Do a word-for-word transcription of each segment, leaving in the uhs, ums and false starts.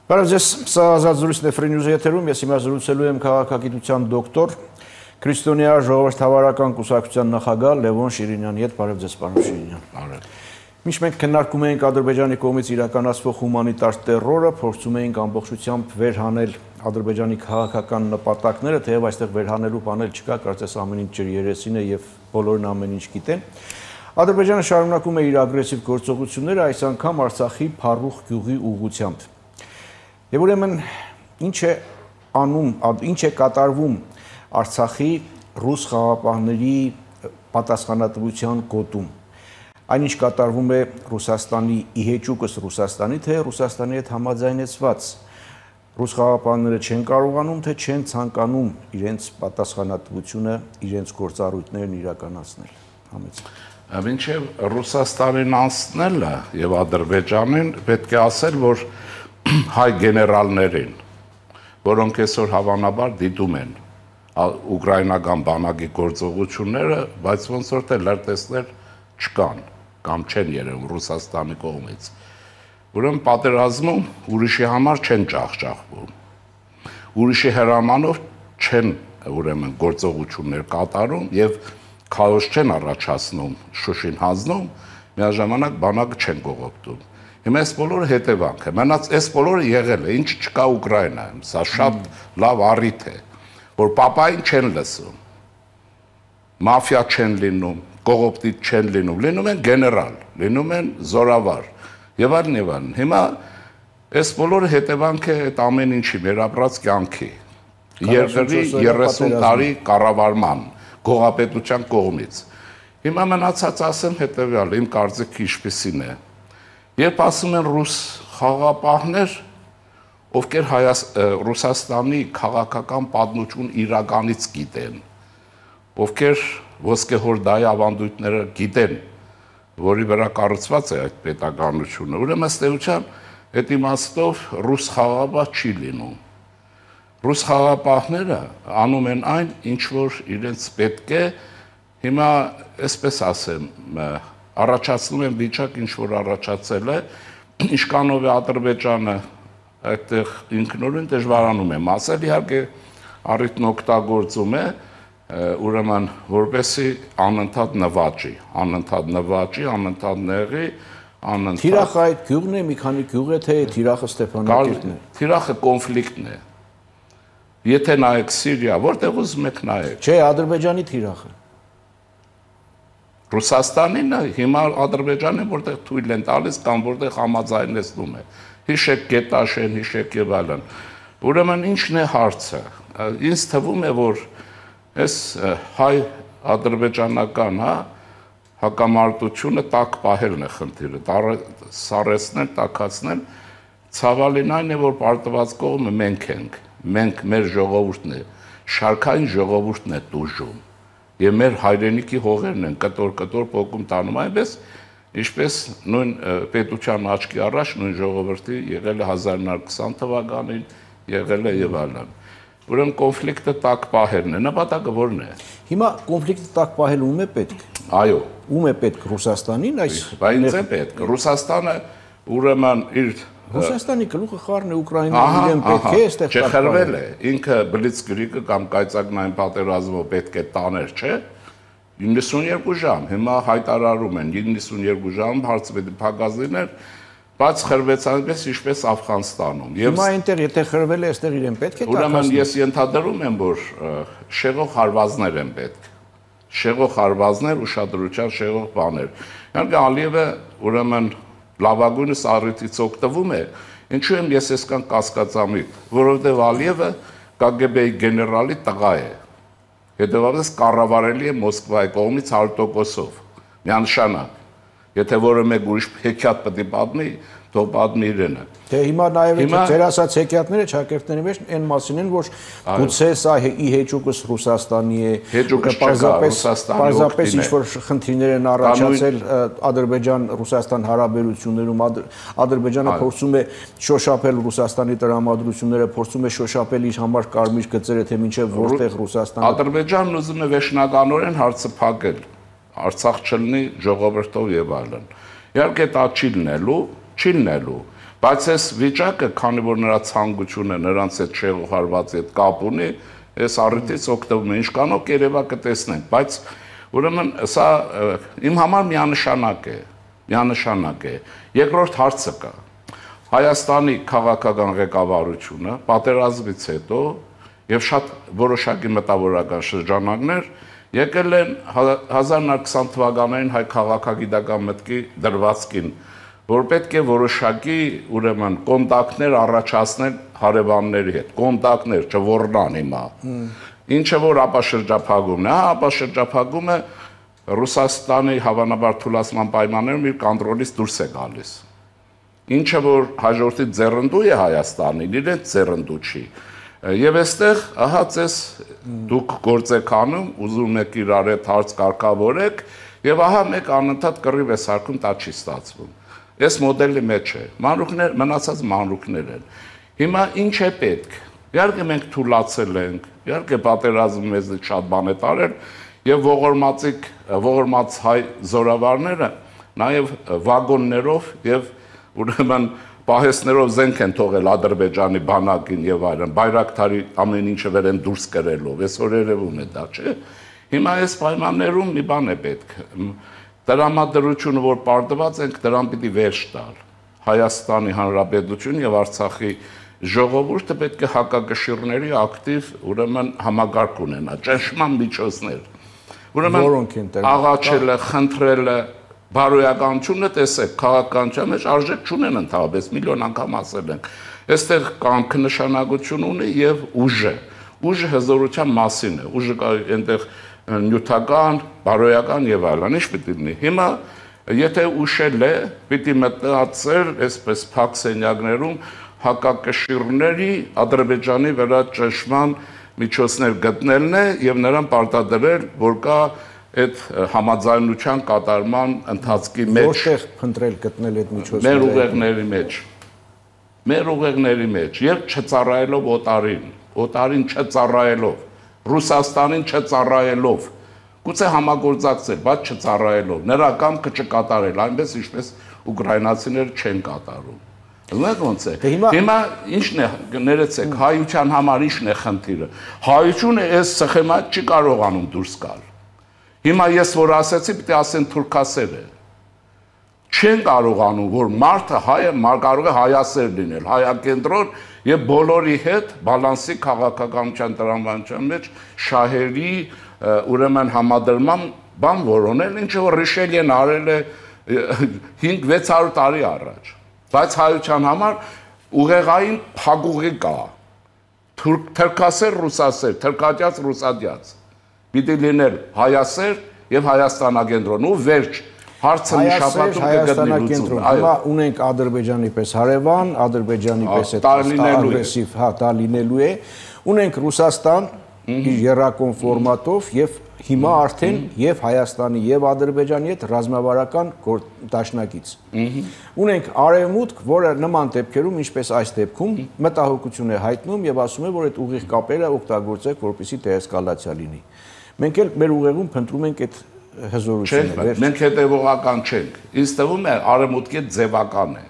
Բարև ձեզ, սա ազատ զրույցն է Free News եթերում, ես հիմա զրուցելու եմ քաղաքագիտության դոկտոր, քրիստոնյա ժողովրդավարական կուսակցության նախագահ Լևոն Շիրինյանի հետ։ Բարև ձեզ, պարոն Շիրինյան։ Բարև։ Միշտ մենք քննարկում ենք Ադրբեջանի կողմից իրականացվող հումանիտար տերորը, փորձում ենք ամբողջությամբ վերհանել Ադրբեջանի քաղաքական նպատակները, թեև այստեղ վերհանելու բաներ չկա, կարծես ամեն ինչ ջրերեսին է եւ բոլորն ամեն ինչ գիտեն։ Ադրբեջանը շարունակում է իր ագրեսիվ գործողությունները, այս անգամ Արցախի Փարուխ գյուղի ուղղությամբ։ Եվ ուրեմն ինչ է անում, ինչ է կատարվում Արցախի ռուս խաղապահների պատասխանատվության գոտում։ Այնինչ կատարվում է Ռուսաստանի իհեճուկս Ռուսաստանի, թե Ռուսաստանի հետ համաձայնեցված ռուս խաղապահները չեն կարողանում, թե չեն ցանկանում իրենց պատասխանատվությունը, իրենց գործառույթներն իրականացնել։ Համեցեք։ Մինչև Ռուսաստանին անցնելը եւ Ադրբեջանին պետք է ասել, որ հայ գեներալներին, որոնք այսօր հավանաբար դիտում են ուկրաինական բանակի գործողությունները, բայց ոնց որ թե լրտեսներ չկան կամ չեն երևում Ռուսաստանի կողմից։ Ուրեմն պատերազմում ուրիշի համար չեն ջախջախվում։ Ուրիշի հրամանով չեն ուրեմն գործողություններ կատարում եւ քաոս չեն առաջացնում, Շուշին հանձնում, միաժամանակ բանակը չեն կողոպտում։ Հիմա այս բոլորը հետևանք է։ Մենած այս բոլորը եղել է, ինչ չկա Ուկրաինայում։ Սա շատ լավ առիթ է, որ պապային չեն լսում։ Մաֆիա չեն լինում, կողոպտիչ չեն լինում, լինում են գեներալ, լինում են զորավար եւ այլն եւ այլն։ Հիմա այս բոլորը հետևանք է այդ ամեն ինչի մեր ապրած կյանքի։ Երկրի երեսուն տարի կառավարման, գողապետության կողմից։ Հիմա մնացած ասեմ հետեւյալը, իմ կարծիքը ինչպեսին է։ Երբ ասում են ռուս խաղապահներ, ովքեր Ռուսաստանի քաղաքական պատմություն իրականից գիտեն, ովքեր ոսկեհորդայի ավանդույթները գիտեն, որի վրա կառուցված է այդ պետականությունը, ուրեմն ըստ էության այդ իմաստով ռուս խաղապահ չի լինում։ Ռուս խաղապահները անում են այն, ինչ որ իրենց պետք է, հիմա այսպես ասեմ, առաջացնում են վիճակ, ինչ որ առաջացել է, ինչքանով է Ադրբեջանը այդտեղ ինքնուրույն դժվարանում եմ ասել, իհարկե առիթն օգտագործում է, ուրեմն որպեսի անընդհատ նվաճի, անընդհատ նվաճի, անընդհատ նեղի, անընդհատ Թիրախը այդ գյուղն է, մի քանի գյուղ է, թե Թիրախը Ստեփանակերտն է։ Թիրախը կոնֆլիկտն է։ Եթե նայեք Սիրիա, որտեղ ուզում եք նայեք։ Չէ, Ադրբեջանի Թիրախը։ Ռուսաստանին հիմա Ադրբեջանը որտեղ թույլ են տալիս կամ որտեղ համաձայնեցնում է։ Հիշեք Գետաշեն, հիշեք եւ այլն։ Ուրեմն ինչն է հարցը։ Ինձ թվում է, որ այս հայ ադրբեջանական, հա, հակամարտությունը տակ պահելն է խնդիրը, սառեցնել, տաքացնել, ցավալին այն է, որ պարտված կողմը մենք ենք, մենք մեր ժողովուրդն է, շարքային ժողովուրդն է տուժում, եւ մեր հայրենիքի հողերն են կտոր-կտոր փոկում տանում, այնպես ինչպես նույն պետության աչքի առաջ նույն ժողովրդի եղել է հազար նոր քսան թվականին, եղել է եւ այլն։ Ուրեմն կոնֆլիկտը տակ պահելն է, նպատակը ո՞րն է։ Հիմա կոնֆլիկտը տակ պահելը ում է պետք։ Այո, ում է պետք Ռուսաստանին, այս բայց է պետք։ Ռուսաստանը ուրեմն իր Ռուսաստանի գլուխը խառն է Ուկրաինան, իրեն պետք է այստեղ չխրվել է, ինքը բլիցկրիգը կամ կայծակնային պատերազմը պետք է տաներ, չէ՞։ իննսունյերկու ժամ, հիմա հայտարարում են իննսունյերկու ժամ հարցը պետք է փակած լիներ, բայց խրվեց այնպես ինչպես Աֆղանստանում։ Հիմա այնտեղ եթե խրվել է, այստեղ իրեն պետք է տաքացնել։ Ուրեմն ես ենթադրում եմ, որ շեղող հարվածներ են պետք։ Շեղող հարվածներ, ուշադրության շեղող բաներ։ Իհարկե Ալիևը ուրեմն լավագույնս առիթից օգտվում է, ինչու եմ ես այսքան կասկածամիտ, որովհետև Ալիևը Կ Գ Բ-ի գեներալի տղա է, հետևաբար կառավարելի է Մոսկվայի կողմից հարյուր տոկոսով, միանշանակ, եթե որը մեկ ուրիշ հեքիաթ պետք է պատմի, թող պատմի իրենը։ Թե հիմա նաև ձեր ասած հեքիաթները ճակերտների մեջ այն մասին են, որ գուցե սա իհեճուկս Ռուսաստանի է, պարզապես ինչ-որ խնդիրներ են առաջացել Ադրբեջան-Ռուսաստան հարաբերություններում, Ադրբեջանը փորձում է շոշափել Ռուսաստանի տրամադրությունները, փորձում է շոշափել իր համար կարմիր գծերը, թե մինչև որտեղ Ռուսաստանը։ Ադրբեջանն ուզում է վերջնականորեն հարցը փակել, Արցախ չլինի ժողովրդով եւ այլն։ Իհարկե դա չի լինելու, չի լինելու, Բայց այս վիճակը, քանի որ նրա ցանկությունը նրանց այդ շեղուհարված այդ կապ ունի, այս առիթից օգտվում է, ինչքանով երևա կտեսնենք, բայց ուրեմն սա իմ համար միանշանակ է, միանշանակ է։ Երկրորդ հարցը կա։ Հայաստանի քաղաքական ղեկավարությունը պատերազմից հետո եւ շատ որոշակի մտավորական շրջանակներ եկել են հազար նոց քսան թվականներին հայ քաղաքագիտական մտքի դրվածքին, որ պետք է որոշակի ուրեմն կոնտակտներ առաջացնել հարևանների հետ, կոնտակտներ չոռնան հիմա։ Ինչը որ ապաշրջափակումն է, հա, ապաշրջափակումը Ռուսաստանի հավանաբար թուլացման պայմաններում իր կոնտրոլից դուրս է գալիս։ Ինչը որ հաջորդի ձեռնդու է Հայաստանին, իրենց ձեռնդու չի։ Եվ այստեղ, ահա ձեզ դուք գործ եք անում, ուզում եք իրար հետ հարց կարգավորեք, եւ ահա մեկ անընդհատ կռիվ է սարքում, դա չի ստացվում։ Այս մոդելի մեջ է։ Մանրուքներ, մնացած մանրուքներ են։ Հիմա ինչ է պետք։ Իհարկե մենք թուլացել ենք, իհարկե պատերազմը մեզնից շատ բան է տարել, եւ ողորմածիկ, ողորմած հայ զորավարները նաեւ վագոններով եւ ուրեմն պահեսներով զենք են թողել Ադրբեջանի բանակին եւ այլն, Բայրակթարի ամեն ինչը վեր են դուրս կրելով, այսօր երևում է դա, չէ՞։ Հիմա այս պայմաններում մի բան է պետք։ Տրամադրությունը, որ պարտված ենք, դրան պիտի վերջ տալ։ Հայաստանի Հանրապետությունը եւ Արցախի ժողովուրդը պետք է հակակշիռների ակտիվ ուրեմն համագարկ ունենա, ճնշման միջոցներ։ Ուրեմն աղաչելը, խնդրելը, բարոյականությունը տեսեք, քաղաքականության մեջ արժեք չունեն ընդհանրապես, միլիոն անգամ ասել ենք։ Այստեղ կամքը նշանակություն ունի եւ ուժը։ Ուժը հզորության մասին է, ուժը այնտեղ նյութական, բարոյական եւ այլն, ինչ պիտի լինի։ Հիմա եթե ուշել է, պիտի մտածել այսպես փակ սենյակներում հակակշիռների Ադրբեջանի վրա ճնշման միջոցներ գտնելն է եւ նրան պարտադրել, որ կա այդ համաձայնության կատարման ընթացքի մեջ։ Որտեղ փնտրել գտնել այդ միջոցները։ Մեր ուղեղների մեջ։ Մեր ուղեղների մեջ եւ չծառայելով օտարին, օտարին չծառայելով, Ռուսաստանին չծառայելով, գուցե համագործակցել, բայց չծառայելով, նրա կամքը չկատարել, այնպես ինչպես ուկրաինացիները չեն կատարում։ Ոնց ոնց է։ Հիմա ինչն է, ներեցեք, հայության համար ինչն է խնդիրը։ Հայությունը այս սխեմայից չի կարողանում դուրս գալ։ Հիմա ես որ ասեցի, պիտի ասեն թուրքասեր է։ Չեն կարողանում, որ մարդը հայը կարող է հայասեր լինել, հայակենտրոն եւ բոլորի հետ բալանսի քաղաքականության տրամաբանության մեջ շահերի ուրեմն համադրման բան որոնել, ինչը որ Ռիշելիեն արել է հինգ վեց հարյուր տարի առաջ։ Բայց հայության համար ուղեղային փակուղի կա։ Թուրքասեր, ռուսասեր, թրքատյաց, ռուսադյաց։ Պիտի լինել հայասեր եւ հայաստանագենտրոն ու վերջ հարցը նշապատում կգտնի լուծում։ Հիմա ունենք Ադրբեջանի պես հարևան, Ադրբեջանի պես այդ ագրեսիվ, հա, դա լինելու է։ Ունենք Ռուսաստան իր երրակոն ֆորմատով եւ հիմա արդեն եւ Հայաստանի եւ Ադրբեջանի հետ ռազմավարական դաշնակից։ Ունենք Արևմուտք, որը նման դեպքերում, ինչպես այս դեպքում, մտահոգություն է հայտնում եւ ասում է, որ այդ ուղիղ կապերը օգտագործեք, որպեսզի դեէսկալացիա լինի։ Մենք էլ մեր ուղեղում փնտրում ենք այդ հզորությունը։ Մենք հետևողական չենք։ Ինձ թվում է Արևմուտքի ձևական է,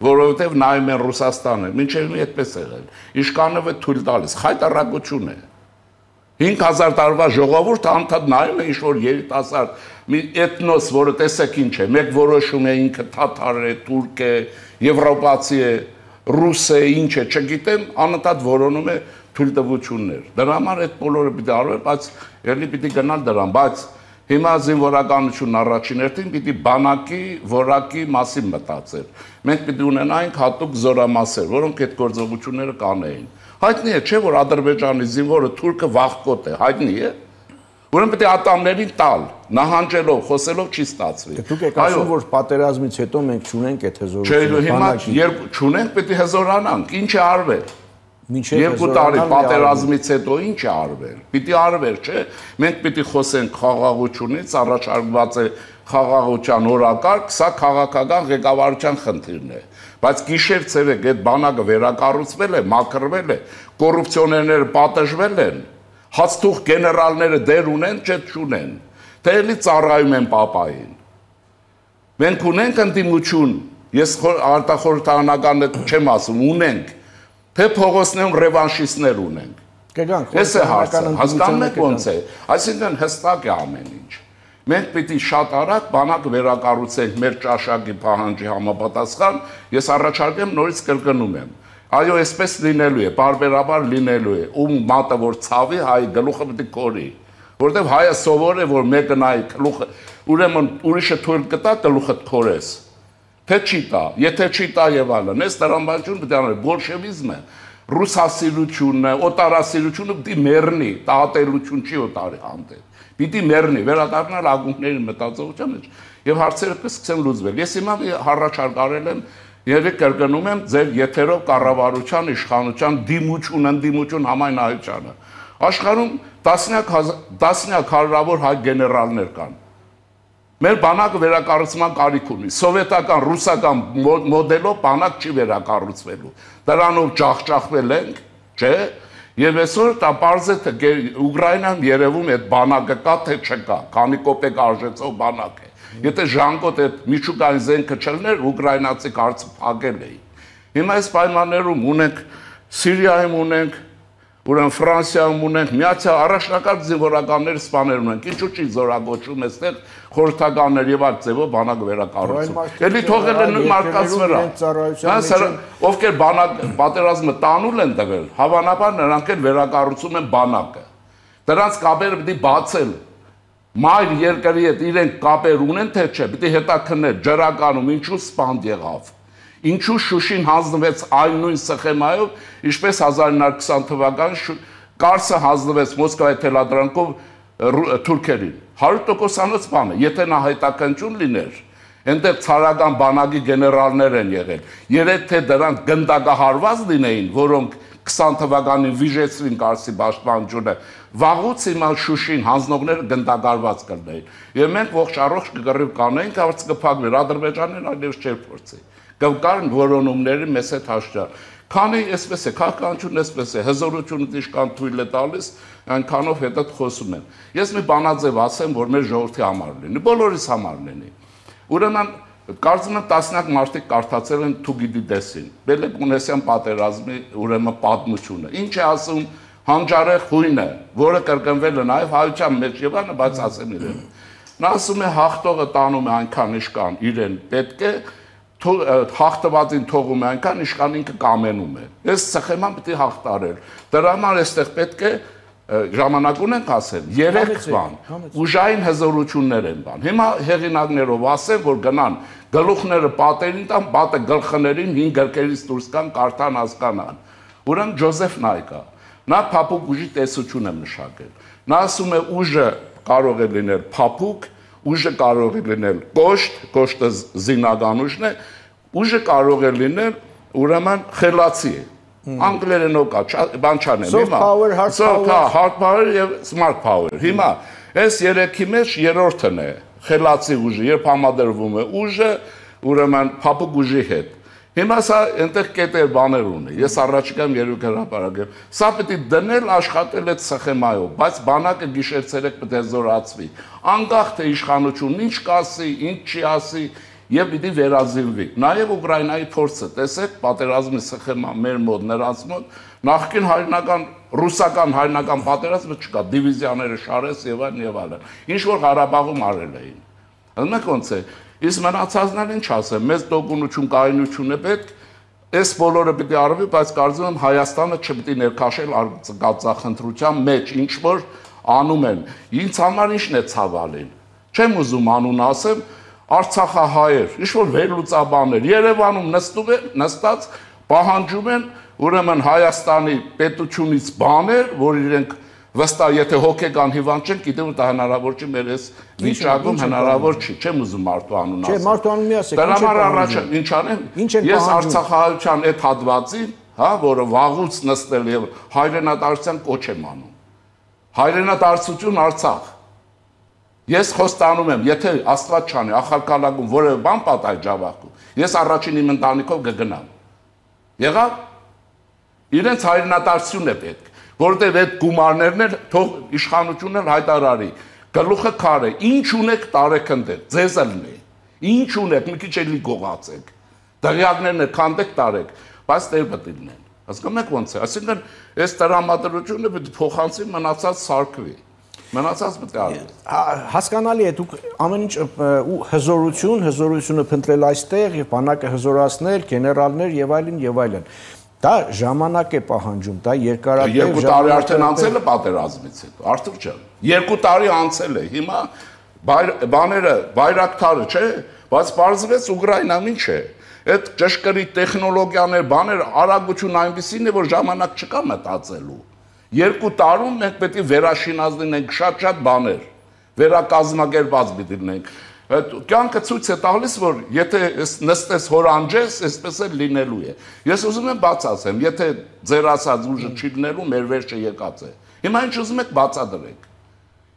որովհետև նայում են Ռուսաստանը, մինչև մի այդպես եղել։ Իշխանովը թույլ տալիս, խայտարակություն է։ հինգ հազար տարվա ժողովուրդը անդադ նայում է ինչ-որ երիտասարդ մի էթնոս, որը տեսեք ինչ է, մեկ որոշում է ինքը թաթար է, թուրք է, եվրոպացի է, ռուս է, ինչ է, չգիտեմ, անընդհատ որոնում է թույլտվություններ։ Դրա համար այդ բոլորը պիտի արվի, բայց ելի պիտի գնալ դրան, բայց հիմա զինվորականությունն առաջին հերթին պիտի բանակի, որակի մասին մտածել։ Մենք պիտի ունենայինք հատուկ զորամասեր, որոնք այդ գործողությունները կանեին։ Հայտնի է, չէ՞ որ Ադրբեջանի զինվորը թուրքը վախկոտ է, հայտնի է։ Ուրեմն պետք է ատամներին տալ, նահանջելով, խոսելով չի ստացվի։ Դուք եք ասում, որ պատերազմից հետո մենք չունենք այդ հզորությունը։ Չէ, հիմա երբ չունենք, պետք է հզորանանք, ինչ է արվել։ Երկու տարի պատերազմից հետո ինչ է արվել։ Պիտի արվեր, չէ՞։ Մենք պիտի խոսենք խաղաղությունից, առաջարկված է խաղաղության օրակարգ, սա քաղաքական ղեկավարության խնդիրն է։ Բայց գիշեր ցերեկ այդ բանակը վերակառուցվել է, մաքրվել է, կոռուպցիոներները պատժվել են, հացթուղ գեներալները դեր ունեն, չէ՞ չունեն։ Թե էլի ծառայում են պապային։ Մենք ունենք ընդդիմություն Ես արտախորհրդարանական չեմ ասում, ունենք, թե փողոցներում ռևանշիստներ ունենք։ Կգանք, Էս է հարցը, հասկանում եք ոնց է, այսինքն հստակ է ամեն ինչ։ Մենք պիտի շատ արագ բանակ վերակառուցենք մեր ճաշակի պահանջի համապատասխան, ես առաջարկեմ նորից կրկնում եմ։ Այո, այսպես լինելու է, բարբերաբար լինելու է, ում մատը որ ցավի, հայ գլուխը պիտի կորի, որտեվ հայը սովոր է, որ մեկը նայի գլուխը, ուրեմն ուրիշը թույլ կտա գլուխը կորես։ Թե չի տա, եթե չի տա եւ այլն, այս տրամաբանություն պիտի անել, բոլշևիզմը, ռուսասիրությունը, օտարասիրությունը պիտի մեռնի, տաղատելություն չի օտարի հանդեպ։ Պիտի մեռնի, վերադառնալ ակունքների մտածողության մեջ եւ հարցերը կսկսեն լուծվել։ Ես հիմա հառաչարկ արել եմ, երեք կրկնում եմ ձեր եթերով կառավարության իշխանության դիմություն, ընդդիմություն համայնայությանը։ Աշխարհում տասնյակ հարյուրավոր հայ գեներալներ կան։ Մեր բանակը վերակառուցման կարիք ունի։ Սովետական, ռուսական մոդելով բանակ չի վերակառուցվելու։ Դրանով ջախջախվել ենք, չէ՞։ Եվ այսօր դա պարզ է թե Ուկրաինայում երևում է այդ բանակը կա թե չկա, քանի կոպեկ արժեցող բանակ է։ Եթե ժանգոտ այդ միջուկային զենքը չլներ, ուկրաինացի կարծը փակել էին։ Հիմա այս պայմաններում ունենք Սիրիայում ունենք, ուրեմն Ֆրանսիայում ունենք, միացյալ առաջնակարգ զինվորականներ սպաներ ունենք, ինչու՞ չի զորագոչում այստեղ խորհրդականներ եւ այլ ձևով բանակ վերակառուցում։ Էլի թողել են մարդկանց վրա։ Ովքեր բանակ պատերազմը տանուլ են տվել, հավանաբար նրանք էլ վերակառուցում են բանակը։ Դրանց կապերը պիտի բացել։ Մայր երկրի հետ իրենք կապեր ունեն թե չէ, պիտի հետաքննել ջրականում ինչու սպանդ եղավ։ Ինչու Շուշին հանձնվեց այն նույն սխեմայով, ինչպես հազար ինը հարյուր քսան թվականին Կարսը հանձնվեց Մոսկվայի թելադրանքով թուրքերին։ հարյուր տոկոսանոց բան է, եթե նա հետաքննություն լիներ, այնտեղ ցարական բանակի գեներալներ են եղել։ Երեկ թե դրանք գնդակահարված լինեին, որոնք քսան թվականին վիժեցրին Կարսի պաշտպանությունը, վաղուց հիմա Շուշին հանձնողները գնդակարված կլինեին։ Եվ մենք ողջ առողջ կգռիվ կանեինք, հարց կփակվեր, Ադրբեջանն այլևս չէր փորձի։ Կան որոնումների մեծ հետ հաշտար։ Քանի այսպես է, քաղաքականությունն այսպես է, հզորությունը դիշկան թույլ է տալիս, այնքանով հետդ խոսում են։ Ես մի բանաձև ասեմ, որ մեր ժողովրդի համար լինի, բոլորիս համար լինի։ Ուրեմն կարծում եմ տասնյակ մարդիկ կարդացել են Թուգիդիդեսին, Պելոպոնեսյան պատերազմի ուրեմն պատմությունը։ Ինչ է ասում հանճարեղ հույնը, որը կրկնվել է նաև հայության մեջ եւ այլն, բայց ասեմ իրեն։ Նա ասում է հաղթողը տանում է այնքան իշքան իրեն պետք է հաղթվածին թողում է այնքան իշքան ինքը կամենում է։ Այս սխեման պիտի հաղթարել։ Դրա համար այստեղ պետք է ժամանակ ունենք ասել, երեք բան, ուժային հզորություններ են բան։ Հիմա հեղինակներով ասեմ, որ գնան գլուխները պատերին տան, պատը գլխներին հին գրքերից դուրս կան, կարդան, հասկանան։ Ուրեմն Ջոզեֆ Նայկա, նա փափուկ ուժի տեսություն է մշակել։ Նա ասում է ուժը կարող է լինել փափուկ, ուժը կարող է լինել կոշտ, կոշտը զինական ուժն է, ուժը կարող է լինել ուրեմն խելացի է։ Անգլերենով կա, բան չանեմ, soft power, hard power, hard power եւ smart power։ Հիմա այս երեքի մեջ երրորդն է խելացի ուժը, երբ համադրվում է ուժը, ուրեմն փափուկ ուժի հետ։ Հիմա սա այնտեղ կետեր բաներ ունի։ Ես առաջիկայում երեք հրապարակեմ։ Սա պետք է դնել աշխատել այդ սխեմայով, բայց բանակը գիշեր-ցերեկ պետք է զորացվի։ Անկախ թե իշխանությունն ինչ կասի, ինչ չի ասի, եւ պիտի վերազինվի։ Նաեւ Ուկրաինայի փորձը, տեսեք, պատերազմի սխեմա մեր մոտ, նրանց մոտ նախկին հայրենական ռուսական հայրենական պատերազմը չկա, դիվիզիաները շարես եւ այլն եւ այլն։ Ինչ որ Ղարաբաղում արել էին։ Հենց ոնց է։ Իսկ մնացածն ինչ ասեմ, մեծ տոկունություն, կայունություն է պետք, այս բոլորը պիտի արվի, բայց կարծում եմ Հայաստանը չպիտի ներքաշել արձակախնդրության մեջ, ինչ որ անում են։ Ինձ համար ինչն է ցավալին։ Չեմ ուզում անուն ասեմ, Արցախահայեր, ինչ որ վերլուծաբաններ Երևանում նստում են, նստած պահանջում են ուրեմն Հայաստանի պետությունից բաներ, որ իրենք վստահ եթե հոգեկան հիվանդ չեն, գիտեմ դա հնարավոր չի մեր այս վիճակում հնարավոր չի, չեմ ուզում մարդու անուն ասել։ Չէ, մարդու անուն մի ասեք։ Դրա համար առաջ ինչ անեմ։ Ես Արցախահայության այդ հատվածին, հա, որը վաղուց նստել եւ հայրենադարձության կոչ եմ անում։ Հայրենադարձություն Արցախ։ Ես խոստանում եմ, եթե Աստված չանի, ախալքալակում որևէ բան պատահի Ջավախքում, ես առաջին իմ ընտանիքով կգնամ։ Եղավ։ Իրենց հայրենադարձություն է պետք, որտեղ այդ գումարներն էլ թող իշխանությունն էլ հայտարարի։ Գլուխը քար է, ինչ ունեք տարեք ընդեղ, ձեզ ելնի։ Ինչ ունեք, մի քիչ էլի գողացեք։ Դղյակներն քանդեք տարեք, բայց տեր բտիլն են։ Հասկանում եք ոնց է։ Այսինքն այս տրամադրությունը պետք է փոխանցի մնացած սարքվի։ Մնացած պետք է արվի։ Հասկանալի է, դուք ամեն ինչ հզորություն, հզորությունը փնտրել այստեղ եւ բանակը հզորացնել, գեներալներ եւ այլն եւ այլն։ Դա ժամանակ է պահանջում, դա երկարատև երկու տարի արդեն անցել է պատերազմից հետո, Արթուր ջան։ Երկու տարի անցել է։ Հիմա բաները բայրակտարը, չէ, բայց պարզվեց Ուկրաինան ինչ է։ Այդ ճշգրիտ տեխնոլոգիաներ, բաներ, արագություն այնպեսին է, որ ժամանակ չկա մտածելու։ Երկու տարում մենք պետք է վերաշինած լինենք շատ-շատ բաներ, վերակազմակերպած պետք է լինենք։ Այդ կյանքը ցույց է տալիս, որ եթե նստես հորանջես, այսպես էլ լինելու է։ Ես ուզում եմ բաց ասեմ, եթե ձեր ասած ուժը չի լինելու, մեր վերջը եկած է։ Հիմա ինչ ուզում եք բացադրեք։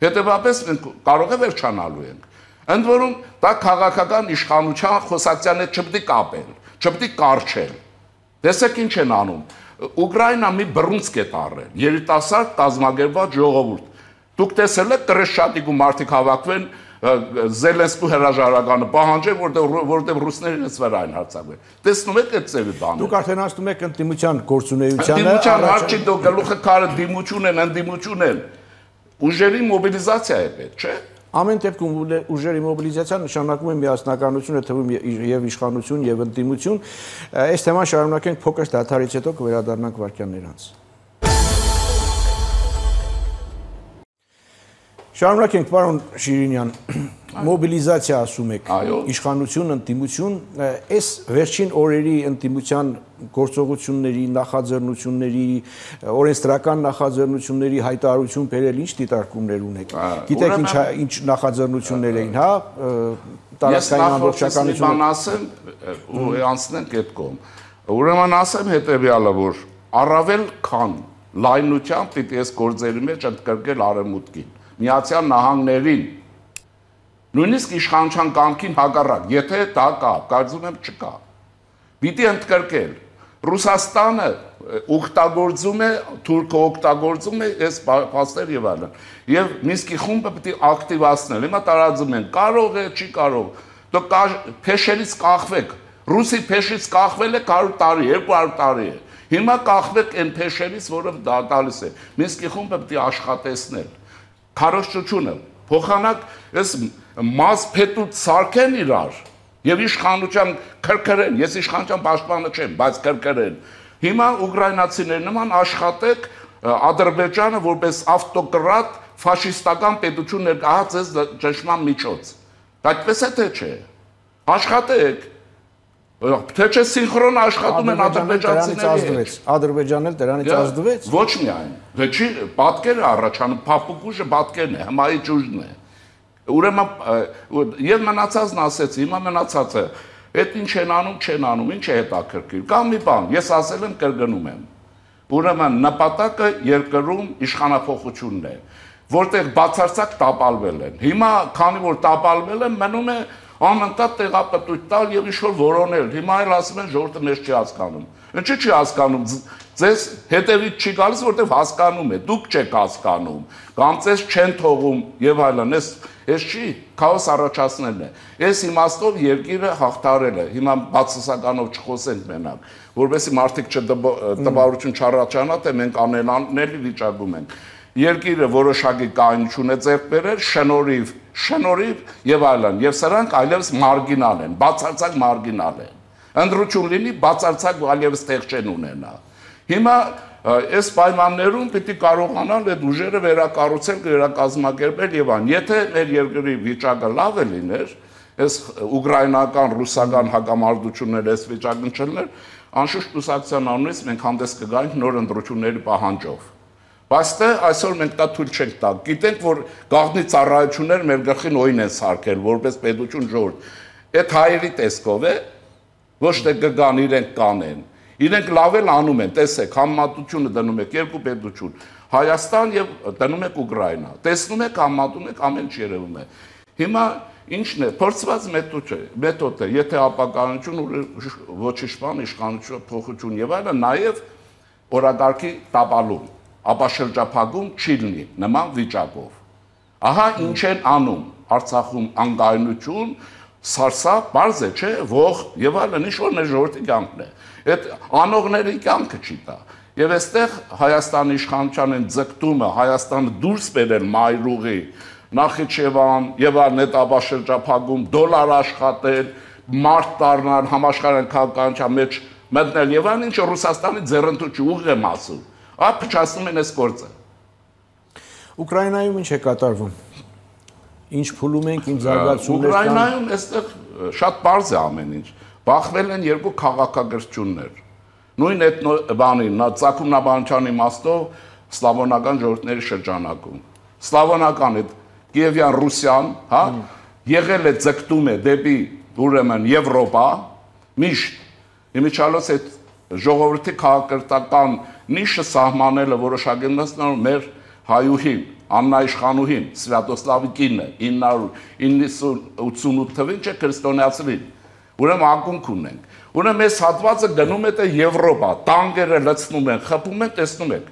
Հետևաբար մենք կարող է վերջանալու ենք։ Ընդ որում դա քաղաքական իշխանության խոսակցության հետ չպետք է կապել, չպետք է կարճել։ Տեսեք ինչ են անում։ Ուկրաինան մի բռունցք է տարել, երիտասարդ կազմակերպված ժողովուրդ։ Դուք տեսել եք Կրեշտատիկ ու մարդիկ հավաքվեն Զելենսկու հրաժարականը պահանջել, որտեղ որտեղ ռուսներն էս վրա այն հարձակվել։ Տեսնում եք այդ ծևի բանը։ Դուք արդեն ասում եք ընդդիմության գործունեությանը։ Ընդդիմության հարցի դու գլուխը քարը դիմություն են, ընդդիմություն են։ Ուժերի մոբիլիզացիա է պետք, չէ՞։ Ամեն դեպքում ուժերի մոբիլիզացիան նշանակում է միասնականություն, է թվում եւ իշխանություն եւ ընդդիմություն։ Այս թեման շարունակենք փոքր դադարից հետո կվերադառնանք վարքյաններ անց։ Շարունակենք, պարոն Շիրինյան, մոբիլիզացիա ասում եք, իշխանություն, ընդդիմություն, այս վերջին օրերի ընդդիմության գործողությունների, նախաձեռնությունների, օրենսդրական նախաձեռնությունների հայտարարություն բերել ինչ դիտարկումներ ունեք։ Գիտեք ինչ նախաձեռնություններ էին, հա, տարածքային ամբողջականություն։ Ես ասեմ ու անցնենք այդ կողմ։ Ուրեմն ասեմ հետեւյալը, որ առավել քան լայնությամբ պիտի այս գործերի մեջ ընդգրկել արևմուտքին, Միացյալ Նահանգներին, նույնիսկ իշխանության կամքին հակառակ, եթե դա կա, կարծում եմ չկա։ Պիտի ընդգրկել։ Ռուսաստանը օգտագործում է, Թուրքը օգտագործում է այս փաստեր եւ այլն։ Եվ Մինսկի խումբը պիտի ակտիվացնել։ Հիմա տարածում են, կարող է, չի կարող։ Դուք փեշերից կախվեք։ Ռուսի փեշից կախվել է հարյուր տարի, երկու հարյուր տարի է։ Հիմա կախվեք այն փեշերից, որը դա տալիս է։ Մինսկի խումբը պիտի աշխատեցնել։ Քարոզչությունը, փոխանակ այս մաս փետուց սարքեն իրար եւ իշխանության քրքրեն, ես իշխանության պաշտպանը չեմ, բայց քրքրեն։ Հիմա ուկրաինացիների նման աշխատեք Ադրբեջանը որպես ավտոկրատ ֆաշիստական պետություն ներկայացած ճշմարտ միջոց։ Այդպես է թե չէ։ Աշխատեք։ Թե չէ սինխրոն աշխատում են ադրբեջանցիների։ Ադրբեջանն էլ դրանից ազդվեց։ Ոչ միայն, թե չի պատկերը առաջանում, փափուկ ուժը պատկերն է, հմայիչ ուժն է։ Ուրեմն եւ մնացածն ասեցի, հիմա մնացածը, այդ ինչ են անում, չեն անում, ինչ է հետաքրքիր։ Կամ մի բան, ես ասել եմ, կրկնում եմ։ Ուրեմն նպատակը երկրում իշխանափոխությունն է, որտեղ բացարձակ տապալվել են։ Հիմա, քանի որ տապալվել են, մնում է անընդհատ տեղապտույտ տալ եւ ինչ-որ որոնել։ Հիմա էլ ասում են ժողովուրդը մեզ չի հասկանում։ Ինչի՞ չի հասկանում։ Ձեզ հետևից չի գալիս, որտեղ հասկանում է։ Դուք չեք հասկանում, կամ ձեզ չեն թողում եւ այլն։ Այս այս չի քաոս առաջացնելն է։ Այս իմաստով երկիրը հաղթարել է։ Հիմա բացասականով չխոսենք մենակ, որովհետեւ մարդիկ չտպավորություն չառաջանա, թե մենք անելանելի վիճակում ենք։ Երկիրը որոշակի կայունություն է ձեռք բերել, շնորհիվ, շնորհիվ եւ այլն, եւ սրանք այլևս մարգինալ են, բացարձակ մարգինալ են։ Ընդրություն լինի, բացարձակ այլևս տեղ չեն ունենա։ Հիմա այս պայմաններում պիտի կարողանալ այդ ուժերը վերակառուցել, վերակազմակերպել եւ այլն։ Եթե մեր երկրի վիճակը լավ է լիներ, այս ուկրաինական, ռուսական հակամարտությունները այս վիճակն չլներ, անշուշտ կուսակցության անունից մենք հանդես կգայինք նոր ընտրությունների պահանջով։ Բայց դե այսօր մենք դա թույլ չենք տա։ Գիտենք, որ գաղտնի ծառայություններ մեր գլխին օին են սարքել, որպես պետություն ժողովուրդ։ Այդ հայերի տեսքով է, ոչ թե կգան իրենք կանեն։ Իրենք լավ էլ անում են, տեսեք, համեմատությունը դնում եք երկու պետություն, Հայաստան եւ դնում եք Ուկրաինա։ Տեսնում եք, համեմատում եք, ամեն ինչ երևում է։ Հիմա ինչն է, փորձված մեթոդ է, մեթոդ է, եթե ապականություն ոչ իշխան, իշխանություն, փոխություն եւ այլն, նաեւ օրակարգի տապալում, ապաշրջափակում չի լինի նման վիճակով։ Ահա ինչ են անում Արցախում անկայունություն, Սարսափ, բարձ է, չէ, ողջ եւ այլն, ինչ որ մեր ժողովրդի կյանքն է։ Այդ անողների կյանքը չի տա։ Եվ այստեղ Հայաստանի իշխանության են ձգտումը Հայաստանը դուրս բերել մայրուղի, Նախիջևան եւ այլն հետաբաշրջափակում, դոլար աշխատել, մարդ դառնալ, համաշխարհային քաղաքականության մեջ մտնել եւ այլն, ինչը Ռուսաստանի ձեռնտու ուղիղ եմ ասում։ Այ փչացնում են այս գործը։ Ուկրաինայում ինչ է կատարվում։ Ինչ փուլում ենք, ինչ զարգացումներ կան։ Ուկրաինայում այստեղ շատ բարձ է ամեն ինչ։ Բախվել են երկու քաղաքագրություններ։ Նույն այդ բանի, Ծագումնաբանության իմաստով սլավոնական ժողովուրդների շրջանակում։ Սլավոնական այդ Կիևյան Ռուսիան, հա, եղել է ձգտում է դեպի ուրեմն Եվրոպա, միշտ իմիջիալոց այդ ժողովրդի քաղաքական նիշը սահմանելը որոշակի մեր հայուհին, Աննա Իշխանուհին, Սվյատոսլավի կինը, ինը ութսունութ թվին չէ քրիստոնեացրին։ Ուրեմն ակունք ունենք։ Ուրեմն այս հատվածը գնում է Եվրոպա, տանկերը լցնում են, խփում են, տեսնում եք։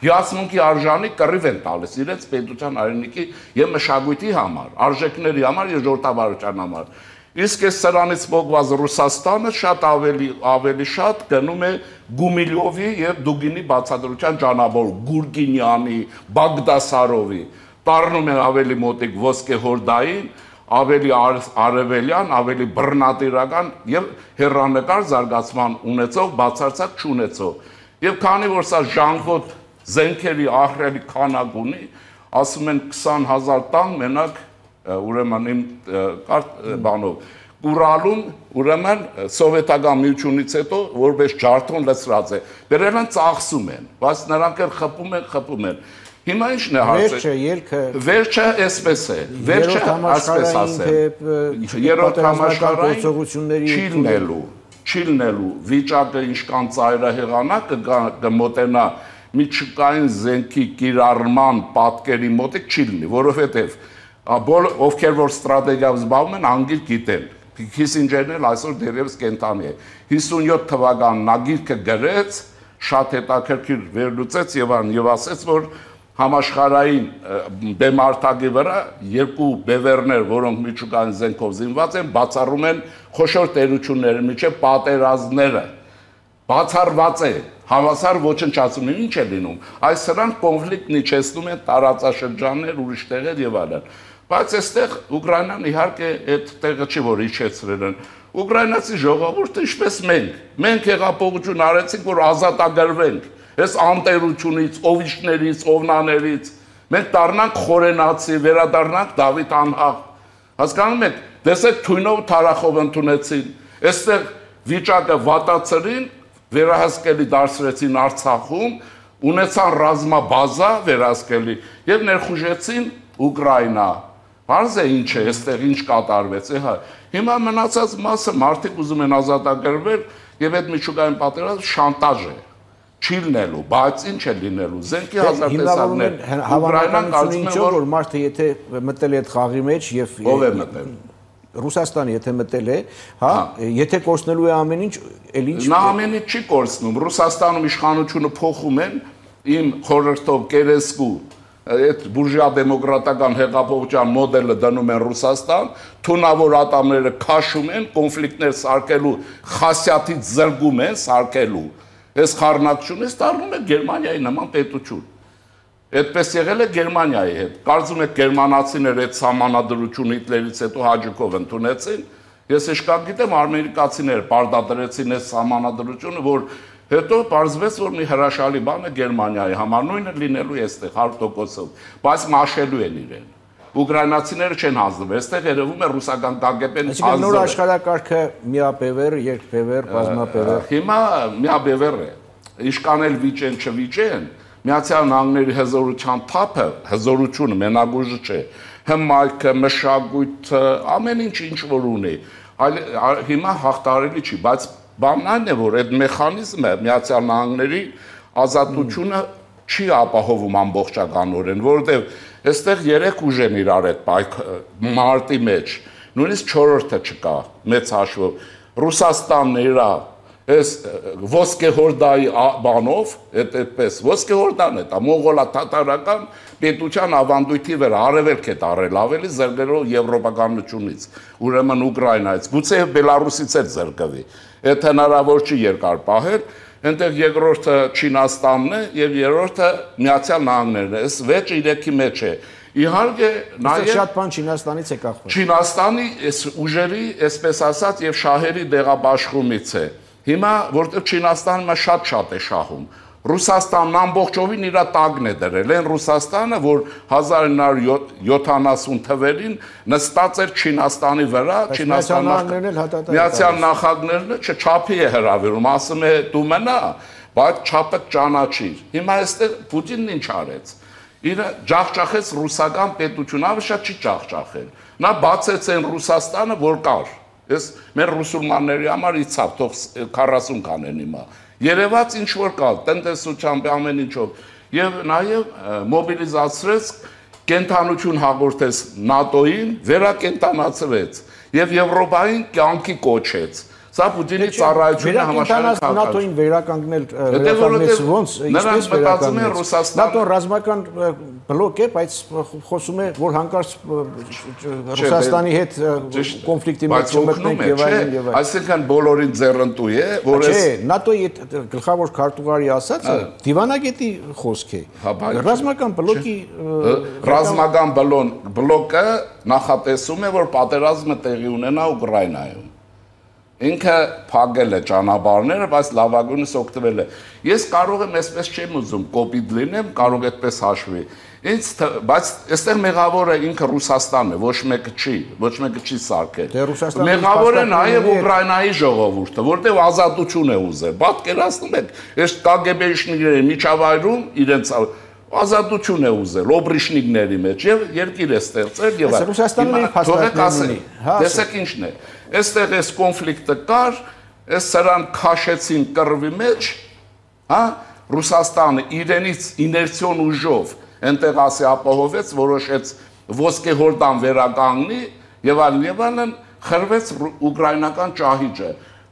Հիացմունքի արժանի կռիվ են տալիս իրենց պետության հայրենիքի եւ մշակույթի համար, արժեքների համար եւ ժողովրդավարության համար։ Իսկ այս սրանից փոխված Ռուսաստանը շատ ավելի ավելի շատ գնում է Գումիլյովի եւ Դուգինի բացատրության ճանապարհով, Գուրգինյանի, Բագդասարովի, տառնում են ավելի մոտիկ ոսկեհորդային, ավելի արևելյան, ավելի բռնատիրական եւ հեռանկար զարգացման ունեցող բացարձակ չունեցող։ Եվ քանի որ սա ժանգոտ զենքերի ահռելի քանակ ունի, ասում են քսան հազար տան մենակ ուրեմն իմ բանով Կուրալում ուրեմն սովետական միությունից հետո որպես ջարդոն լցրած է դրել են ծախսում են բայց նրանք էլ խփում են խփում են հիմա ինչն է հարցը վերջը ելքը վերջը էսպես է վերջը ասպես ասեմ երրորդ համաշխարհային գործողությունների չիլնելու չիլնելու վիճակը ինչքան ծայրահեղանակ կմոտենա միջուկային զենքի կիրառման պատկերի մոտիկ չի լինի որովհետև ովքեր որ ստրատեգիայով զբաղվում են անգիր գիտեն Քիսինջերն էլ այսօր դեռևս կենտանի է հիսունյոթ թվականին նա գիրքը գրեց շատ հետաքրքիր վերլուծեց եւ ան եւ ասեց որ համաշխարհային դեմարտակի վրա երկու բևեռներ որոնք միջուկային զենքով զինված են բացառում են խոշոր տերությունների միջև պատերազմները բացառված է հավասար ոչնչացում ինչ է լինում այս սրանք կոնֆլիկտ իջեցնում են տարածաշրջաններ ուրիշ տեղեր եւ այլն բայց այստեղ Ուկրաինան իհարկե այդ տեղը չի որ իջեցրել են Ուկրաինացի ժողովուրդը ինչպես մենք մենք հեղափոխություն արեցինք որ ազատագրվենք այս անտերությունից օվիշներից օվնաներից մենք դառնանք խորենացի վերադառնանք Դավիթ անհաղ հասկանում եք տեսեք թույնով թարախով ընդունեցին այստեղ վիճակը վատացրին վերահսկելի դարձրեցին Արցախում ունեցան ռազմաբազա վերահսկելի եւ ներխուժեցին Ուկրաինա Պարզ է ինչ է, այստեղ ինչ կատարվեց, հա։ Հիմա մնացած մասը մարդիկ ուզում են ազատագրվել եւ այդ միջուկային պատերազմը շանտաժ է։ Չի լինելու, բայց ինչ է լինելու։ Զենքի հազար տեսակներ։ Ուկրաինան կարծում է որ մարդը եթե մտել է այդ խաղի մեջ եւ ով է մտել։ Ռուսաստանը եթե մտել է, հա, եթե կորցնելու է ամեն ինչ, էլ ինչ։ Նա ամեն ինչ չի կորցնում։ Ռուսաստանում իշխանությունը փոխում են իմ խորհրդով կերեսկու այդ բուրժուա դեմոկրատական հեղափոխության մոդելը դնում են Ռուսաստան, թունավոր ատամները քաշում են, կոնֆլիկտներ սարքելու խասյաթից զրկում են սարքելու։ Այս խառնակցությունը դառնում է Գերմանիայի նման պետություն։ Այդպես եղել է Գերմանիայի հետ։ Կարծում եք գերմանացիները այդ սահմանադրությունը Հիտլերից հետո հաջողով ընդունեցին։ Ես իշքան գիտեմ ամերիկացիները պարտադրեցին այս սահմանադրությունը, որ Հետո պարզվեց, որ մի հրաշալի բան է Գերմանիայի համար, նույնը լինելու է այստեղ հարյուր տոկոսով, բայց մաշելու են իրեն։ Ուկրաինացիները չեն հանձնվում, այստեղ երևում է ռուսական կագեպեն հանձնվում։ Այսինքն նոր աշխարհակարգը միաբևեռ, երկբևեռ, բազմաբևեռ։ Հիմա միաբևեռ է։ Իշքան էլ վիճեն չվիճեն, Միացյալ Նահանգների հզորության թափը, հզորությունը մենագույժը չէ, հմայքը, մշակույթը, ամեն ինչ ինչ որ ունի, այլ հիմա հաղթարելի չի, բայց Բանն այն է, որ այդ մեխանիզմը Միացյալ Նահանգների ազատությունը չի ապահովում ամբողջականորեն, որովհետև այստեղ երեք ուժ են իրար այդ մարտի մեջ, նույնիսկ չորրորդը չկա, մեծ հաշվով։ Ռուսաստանն իր Այս ոսկեհորդայի բանով, այդ այդպես ոսկեհորդան է, դա մոնղոլա-թաթարական պետության ավանդույթի վրա արևելք է տարել ավելի զրկելով եվրոպականությունից, ուրեմն Ուկրաինայից, գուցե Բելարուսից էլ զրկվի։ Այդ հնարավոր չի երկար պահել, այնտեղ երկրորդը Չինաստանն է եւ երրորդը Միացյալ Նահանգներն է։ Այս վեճը իրեքի մեջ է։ Իհարկե, նաև շատ բան Չինաստանից է կախված։ Չինաստանի այս ուժերի, այսպես ասած, եւ շահերի դեղաբաշխումից է։ Հիմա որտեղ Չինաստանը շատ-շատ է շահում։ Ռուսաստանն ամբողջովին իր տակն է դրել, այն Ռուսաստանը, որ հազար ինը հարյուր յոթանասուն թվերին նստած էր Չինաստանի վրա, Միացյալ Նահանգներն չչափի է հրավիրում, ասում է դու մնա, բայց չափը ճանաչիր։ Հիմա այստեղ Պուտինն ինչ արեց։ Իր ջախջախեց ռուսական պետությունը, ավելի շատ չի ջախջախել։ Նա բացեց այն Ռուսաստանը, որ կար։ Ես մեր ռուսուլմանների համար իցավ, թող քառասուն կանեն հիմա։ Երևաց ինչ որ կա, տնտեսությամբ ամեն ինչով, եւ նաեւ մոբիլիզացրեց, կենթանություն հաղորդեց ՆԱՏՕ-ին, վերակենթանացրեց եւ Եվրոպային կյանքի կոչեց։ Սա Պուտինի ծառայությունը համաշխարհային ՆԱՏՕ-ին վերականգնել վերականգնեց ոնց, ինչպես վերականգնեց։ ՆԱՏՕ-ն ռազմական բլոկ է, բայց խոսում է, որ հանկարծ Ռուսաստանի հետ կոնֆլիկտի մեջ չմտնենք եւ այլն եւ այլն։ Այսինքն բոլորին ձեռնտու է, որ Չէ, ՆԱՏՕ-ի այդ գլխավոր քարտուղարի ասածը դիվանագետի խոսք է։ Ռազմական բլոկի ռազմական բլոկը նախատեսում է, որ պատերազմը տեղի ունենա Ուկրաինայում։ Ինքը փակել է ճանապարհները, բայց լավագույնս օգտվել է։ Ես կարող եմ այսպես չեմ ուզում կոպիտ լինեմ, կարող այդպես հաշվի։ Ինձ բայց այստեղ մեղավորը ինքը Ռուսաստանն է, ոչ մեկը չի, ոչ մեկը չի սարքել։ Մեղավորը նաև Ուկրաինայի ժողովուրդը, որտեղ ազատություն է ուզել։ Պատկերացնում եք, այս կագեբեշնիկների միջավայրում իրենց ազատություն է ուզել օբրիշնիկների մեջ եւ երկիր է ստեղծել եւ Ռուսաստանը իր փաստարկներն ունի։ Տեսեք ինչն է։ Այստեղ այս կոնֆլիկտը կար, այս սրան քաշեցին կռվի մեջ, հա, Ռուսաստանը իրենից իներցիոն ուժով այնտեղ ասի ապահովեց, որոշեց ոսկեհորդան վերականգնի եւ այլն եւ այլն, խրվեց ուկրաինական ճահիճը։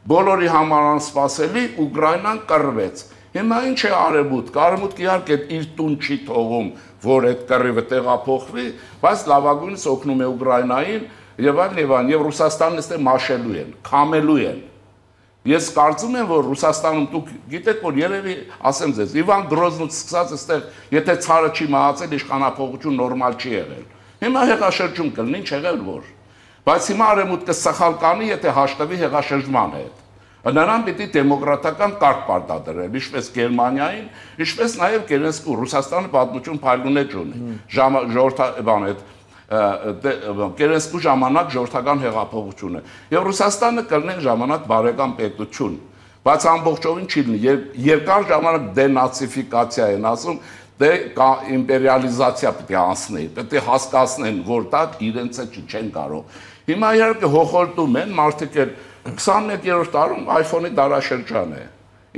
Բոլորի համար անսպասելի Ուկրաինան կռվեց։ Հիմա ինչ է արևմուտքը, արևմուտքը իհարկե իր տուն չի թողում, որ այդ կռիվը տեղափոխվի, բայց լավագույնս օգնում է Ուկրաինային եւ այլն եւ այլն, եւ Ռուսաստանն այստեղ մաշելու են, քամելու են։ Ես կարծում եմ, որ Ռուսաստանում դուք գիտեք, որ երևի, ասեմ ձեզ, Իվան Գրոզնուց սկսած այստեղ, եթե ցարը չի մահացել, իշխանապողություն նորմալ չի եղել։ Հիմա հեղաշրջում կլինի, ինչ եղել որ։ Բայց հիմա արևմուտքը սխալ կանի, եթե հաշտվի հեղաշրջման հետ։ Նրան պիտի դեմոկրատական կարգ պարտադրել, ինչպես Գերմանիային, ինչպես նաև Կերենսկու Ռուսաստանը պատմություն փայլունեջ ունի։ Ժողովրդական այդ Կերենսկու ժամանակ ժողովրդական հեղափոխություն է։ Եվ Ռուսաստանը կլինի ժամանակ բարեկամ պետություն, բայց ամբողջովին չի լինի։ Երկար ժամանակ դենացիֆիկացիա են ասում, դե իմպերիալիզացիա պետք է անցնի, պետք է հասկացնեն, որ դա իրենց է չեն կարող։ Հիմա իհարկե հոխորտում են մարդիկ էլ քսաներկերորդ դարում iPhone-ի դարաշրջան է։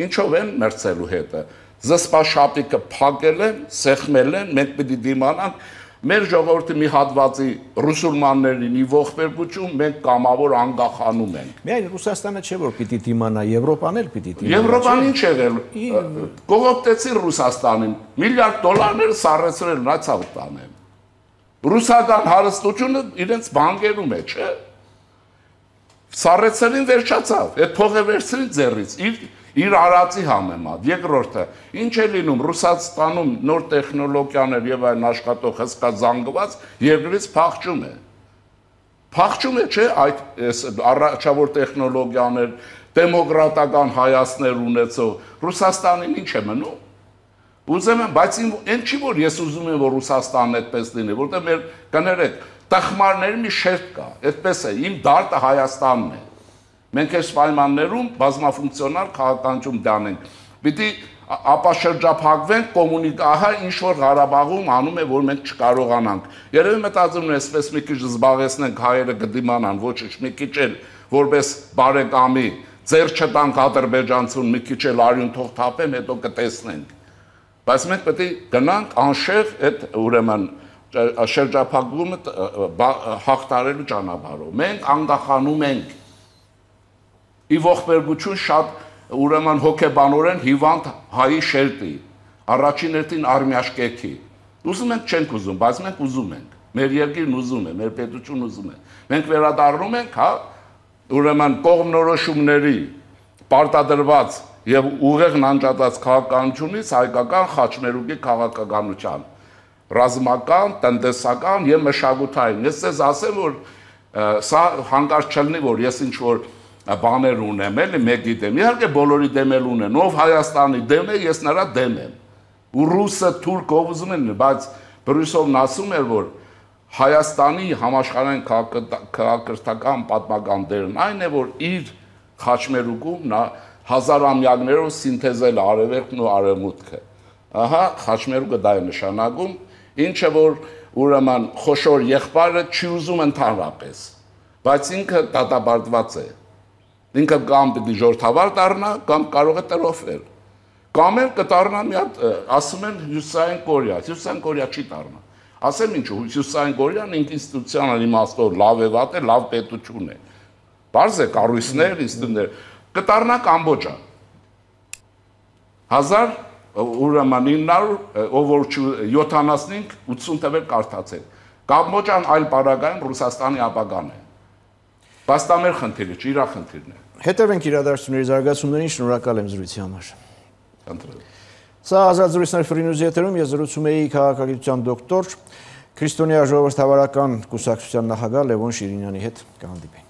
Ինչով են մերցելու հետը։ Զսպաշապիկը փակել են, սեղմել են, մենք պիտի դիմանանք մեր ժողովրդի մի հատվածի ռուսուլմաններին ի ողբերգություն մենք կամավոր անգախանում ենք։ Միայն Ռուսաստանը չէ որ պիտի դիմանա, Եվրոպան էլ պիտի դիմանա։ Եվրոպան ինչ եղել։ Կողոպտեցին Ռուսաստանին, միլիարդ դոլարներ սառեցրել նացավ տանեն։ Ռուսական հարստությունը իրենց բանկերում է, չէ՞։ Սառեցրին վերջացավ, այդ փողը վերցրին ձեռից, իր իր արածի համեմատ։ Երկրորդը, ինչ է լինում Ռուսաստանում նոր տեխնոլոգիաներ եւ այլն աշխատող հսկա զանգված երկրից փախչում է։ Փախչում է, չէ՞, այդ առաջավոր տեխնոլոգիաներ, դեմոկրատական հայացքներ ունեցող Ռուսաստանին ինչ է մնում։ Ուզում եմ, բայց այն չի որ ես ուզում եմ որ Ռուսաստանն այդպես լինի, որտեղ մեր կներեք տխմարների մի շերտ կա, այդպես է, իմ դարտը Հայաստանն է։ Մենք այս պայմաններում բազմաֆունկցիոնալ քաղաքականություն դանենք։ Պիտի ապաշրջափակվենք կոմունիկահա ինչ որ Ղարաբաղում անում է, որ մենք չկարողանանք։ Երևի մտածում եմ, այսպես մի քիչ զբաղեցնենք հայերը կդիմանան, ոչինչ, մի քիչ էլ որպես բարեկամի ձեր չտանք ադրբեջանցուն, մի քիչ էլ արյուն թող թափեն, հետո կտեսնենք։ Բայց մենք պետք է գնանք անշեղ այդ ուրեմն շրջափակումը հաղթարելու ճանապարհով։ Մենք անգախանում ենք ի ողբերգություն շատ ուրեմն հոգեբանորեն հիվանդ հայի շերտի, առաջին հերթին արմյաշկեքի։ Ուզում ենք, չենք ուզում, բայց մենք ուզում ենք։ Մեր երկիրն ուզում է, մեր պետությունն ուզում է։ Մենք վերադառնում ենք, հա, ուրեմն կողմնորոշումների պարտադրված եւ ուղեղ նանջած քաղաքականությունից հայկական խաչմերուկի քաղաքականության ռազմական, տնտեսական եւ մշակութային։ Ես ձեզ ասեմ, որ սա հանկարծ չլինի, որ ես ինչ որ բաներ ունեմ, էլի մեկի դեմ։ Իհարկե բոլորի դեմ էլ ունեն, ով Հայաստանի դեմ է, ես նրա դեմ եմ։ Ու ռուսը, թուրքը ով ուզում են, բայց Բրյուսելն ասում էր, որ Հայաստանի համաշխարհային քաղաքակրթական պատմական դերն այն է, որ իր խաչմերուկում նա հազարամյակներով սինթեզել արևելքն ու արևմուտքը։ Ահա խաչմերուկը դա է նշանակում, ինչը որ ուրեմն խոշոր եղբայրը չի ուզում ընդհանրապես, բայց ինքը դատապարտված է։ Ինքը կամ պիտի ժողովրդավար դառնա, կամ կարող է տրոֆել։ Կամ էլ կդառնա մի հատ, ասում են Հյուսիսային Կորեա, Հյուսիսային Կորեա չի դառնա։ Ասեմ ինչու, Հյուսիսային Կորեան ինստիտուցիոնալ իմաստով լավ է վատ է, լավ պետություն է։ Բարձ է կառույցներ, ինստիտուտներ, կդառնա Կամբոջա։ հազար ուրեմն ինը հարյուր ով որ յոթանասունհինգ ութսուն թվեր կարդացել։ Կամբոջան այլ պարագայում Ռուսաստանի ապագան է։ Բայց դա մեր խնդիրը չէ, իր խնդիրն է։ Հետևենք իրադարձությունների զարգացումներին, շնորհակալ եմ զրույցի համար։ Խնդրեմ։ Սա ազատ զրույցներ Free News եթերում ես զրուցում էի քաղաքագիտության դոկտոր, քրիստոնյա ժողովրդավարական կուսակցության նախագահ Լևոն Շիրինյանի հետ։ Կհանդիպենք։